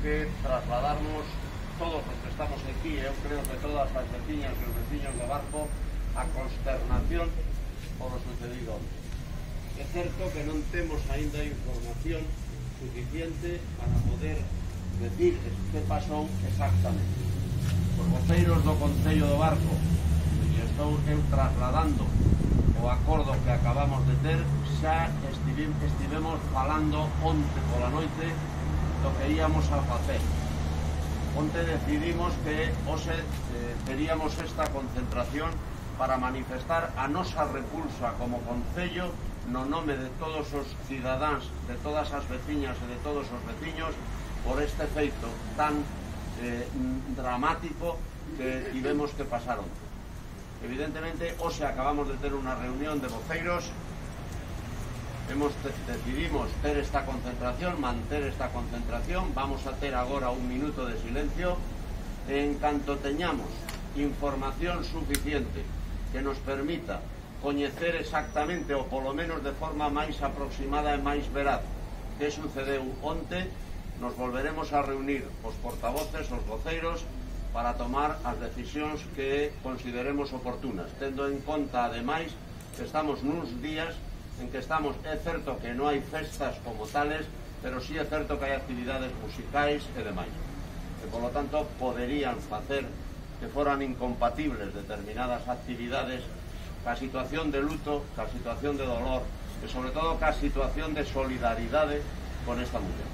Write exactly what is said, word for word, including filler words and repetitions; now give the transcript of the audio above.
que trasladarnos todos os que estamos aquí, eu creo que todas as veciñas e os veciños do Barco, a consternación por o sucedido. É certo que non temos aínda información suficiente para poder decir que pasou exactamente. Os voceiros do Concello do Barco, e estou eu trasladando o acordo que acabamos de ter, xa estivemos falando onte pola noite do que íamos a facer. Onte decidimos que hoxe eh, teríamos esta concentración para manifestar a nosa repulsa como Concello no nome de todos os cidadáns, de todas as veciñas e de todos os veciños por este feito tan eh, dramático que tivemos que pasar onte. Evidentemente, hoxe acabamos de ter unha reunión de voceiros, hemos te, decidimos ter esta concentración, manter esta concentración, vamos a ter agora un minuto de silencio, e en canto teñamos información suficiente que nos permita coñecer exactamente, ou polo menos de forma máis aproximada e máis veraz, que sucedeu onte, nos volveremos a reunir os portavoces, os voceiros, para tomar as decisións que consideremos oportunas, tendo en conta, ademais, que estamos nuns días en que estamos, é certo que non hai festas como tales, pero sí é certo que hai actividades musicais e demais. E, polo tanto, poderían facer que foran incompatibles determinadas actividades ca situación de luto, ca situación de dolor e, sobre todo, ca situación de solidaridade con esta muller.